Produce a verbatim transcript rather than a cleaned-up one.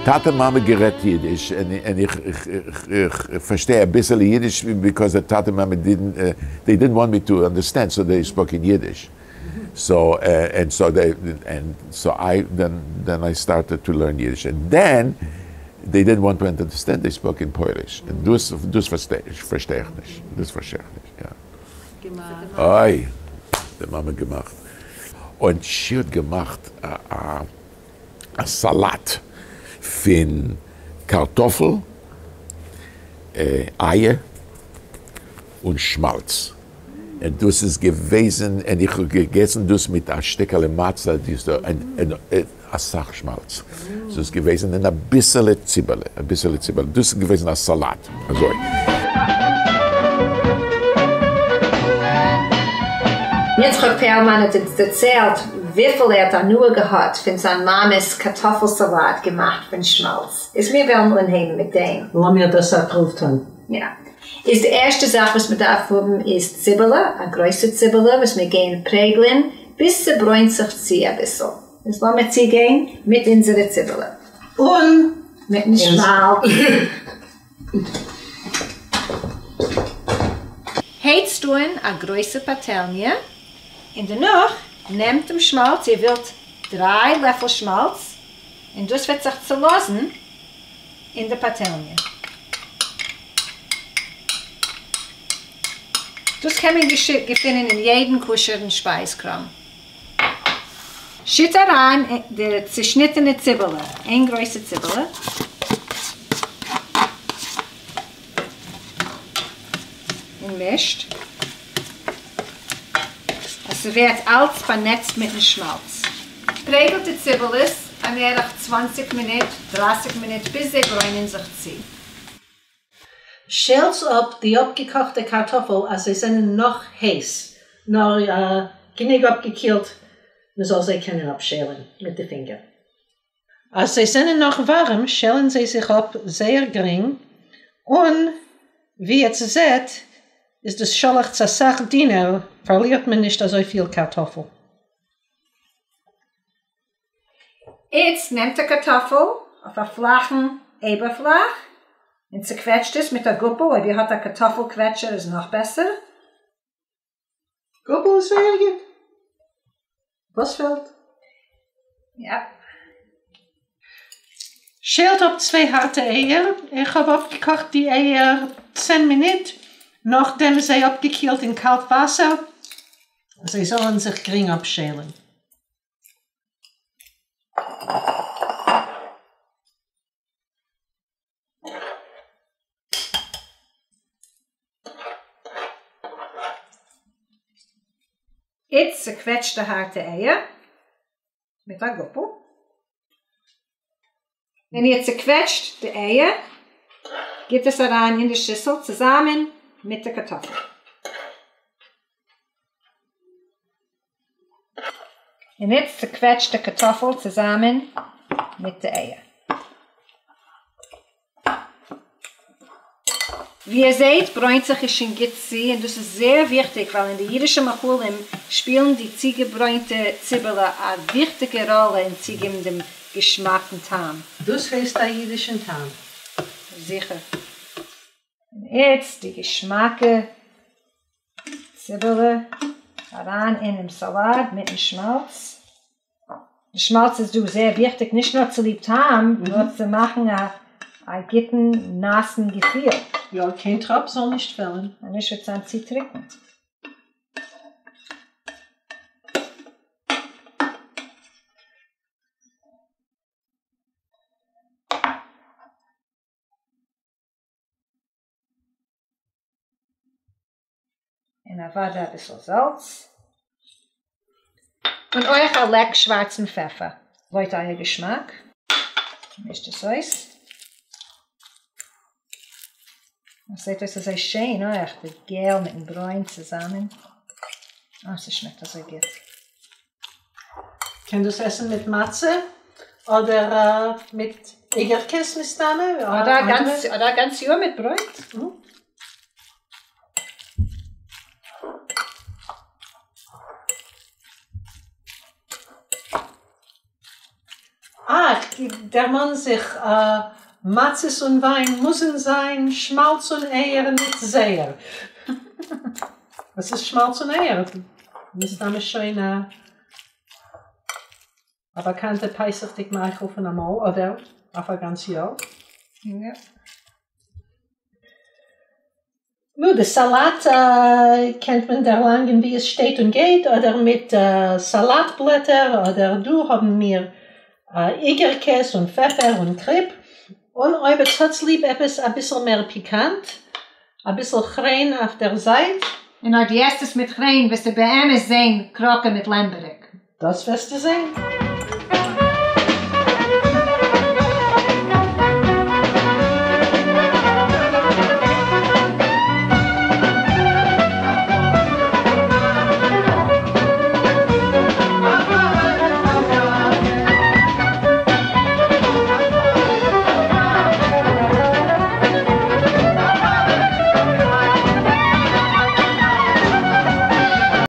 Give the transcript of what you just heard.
טאַטע-מאַמע גערעדט ייִדיש, און, און איך, איך, איך, איך פֿאַרשטיי אַ ביסל ייִדיש because the טאַטע-מאַמע didn't, uh, they didn't want me to understand, so they spoke in Yiddish. So, uh, and so they, and so I, then, then I started to learn Yiddish. And then they didn't want to understand, they spoke in Polish. און דאָס, דאָס פֿאַרשטיי איך, פֿאַרשטיי איך נישט. דאָס פֿאַרשטיי איך נישט, יאָ. געמאַכט. אוי, די מאַמע געמאַכט. און זי האָט געמאַכט אַ, אַ, אַ סאַלאַט פֿון קאַרטאָפֿל, אה, אייער און שמאַלץ. און דאָס איז געוועזן, און איך האָב געגעסן דאָס מיט אַ שטיקעלע מצה, די איז דאָ, און, און, און אַ סך שמאַלץ. דאָס איז געוועזן און אַ ביסעלע ציבעלע, אַ ביסעלע ציבעלע. דאָס איז געוועזן אַ סאַלאַט, אַזוי. יצחק פּערלמאַן האָט אונדז דערציילט, וויפֿל ער האָט הנאה געהאַט פֿון זײַן מאַמעס קאַרטאָפֿל־סאַלאַט געמאַכט פֿון שמאַלץ. איז מיר וועלן אָנהייבן מיט דעם. לאָמיר דאָס אַ פּרוּוו טאָן. יאָ. איז די ערשטע זאַך, וואָס מע דאַרף האָבן, איז ציבעלע, אַ גרויסע ציבעלע, וואָס מיר גייען פּרעגלען, ביז ס'ברוינט זיך צו אַ ביסל. איז לאָמיר צוגיין מיט אונדזערע ציבעלע. און מיטן שמאַלץ. הייצט אָן אַ גרויסע פּאַטעלניע און דערנאָך נעמט דעם שמאַלץ, איר ווילט דרײַ לעפֿל שמאַלץ, און דאָס וועט זיך צעלאָזן אין דער פּאַטעלניע. דאָס קען מען געפֿינען אין יעדן כּשרן שפּײַזקראָם. שיט אַרײַן די צעשניטענע ציבעלע, איין גרויסע ציבעלע. און מישט. עס ווערט אַלץ באַנעצט מיטן שמאַלץ. פּרעגלט די ציבעלעס אַן בערך צוואַנציק מינוט, דרײַסיק מינוט, ביז זיי ברוינען זיך צו. שיילט אָפּ די אָפּגעקאָכטע קאַרטאָפֿל, אַז זיי זענען נאָך הייס, נאָר אה, גענוג אָפּגעקילט, מע זאָל זיי קענען אָפּשיילן מיט די פֿינגער. אַז זיי זענען נאָך וואַרעם, שיילן זיי זיך אָפּ זייער גרינג און ווי איר זעט, איז דאָס שאָלעכץ אַ סך דינער, פֿאַרלירט מען נישט אַזוי פֿיל קאַרטאָפֿל. איצט נעמט אַ קאַרטאָפֿל אויף אַ פֿלאַכן אייבערפֿלאַך און צעקוועטשט עס מיט אַ גאָפּל. אויב איר האָט אַ קאַרטאָפֿל־קוועטשער, איז נאָך בעסער. גאָפּל איז זייער גוט. וואָס פֿעלט? יאָ. שיילט אָפּ צוויי האַרטע אייער. איך האָב אָפּגעקאָכט די אייער צען מינוט, נאָכדעם זיי אָפּגעקילט אין קאַלט וואַסער. זיי זאָלן זיך גרינג אָפּשיילן. איצט צעקוועטשט די האַרטע אייער מיט אַ גאָפּל. ווען איר צעקוועטשט די אייער, גיט עס אַרײַן אין די שיסל צוזאַמען מיט דער קאַרטאָפֿל. און איצט צעקוועטשט די קאַרטאָפֿל צוזאַמען מיט די אייער. ווי איר זעט, ברוינט זיך עס שוין גוט צו, און דאָס איז זייער וויכטיק, ווײַל אין די ייִדישע מאכלים שפּילן די צוגעברוינטע ציבעלע אַ וויכטיקע ראָלע אין צוגעבן דעם געשמאַקן טעם. דאָס הייסט אַ ייִדישן טעם. זיכער. און איצט די געשמאַקע ציבעלע אַרײַן אינעם סאַלאַט מיטן שמאַלץ. דער שמאַלץ איז דאָ זייער וויכטיק, נישט נאָר צוליב טעם, mm -hmm. נאָר צו מאַכן אַ, אַ גוטן, נאַסן געפֿיל. יאָ, קיין טראָפּ זאָל נישט פֿעלן. און נישט וועט זײַן צו טרוקן. און אַוודאי אַ ביסל זאַלץ. און אויך אַ לעק שוואַרצן פֿעפֿער, לויט אײַער געשמאַק. מישט עס אויס. דאָס זעט אויס אַזוי שיין, אויך, די געל מיטן ברוין צוזאַמען. אָ, עס שמעקט אַזוי גוט. קען דאָס עסן מיט מצה אָדער אה, מיט אוגערקעס מסתּמא? אָדער גאַנץ, אָדער גאַנץ יאָר מיט ברויט. Mm. אַ, דערמאן זיך, מצות און וויין מוזן זיין, שמאלץ און אייער ניט זייער. וואס איז שמאלץ און אייער? מסתמא שוין א א באקאנטע פסח'דיג מאכל פון אמאל, אדער אויף א גאנץ יאר. יא. נו, די סאלאט קענט מען דערלאנגען ווי עס שטייט און גייט, אדער מיט סאלאט בלעטער, אדער דא האבן מיר איגערקעס און פעפער און קריפ, און אויב עטס האטס ליב עפעס אביסל מער פיקאנט, אביסל כריין אויף דער זייט. און אויב דו עסט עס מיט כריין וועסטו באמת זען קראקע מיט לעמבעריק. דאס וועסטו זען.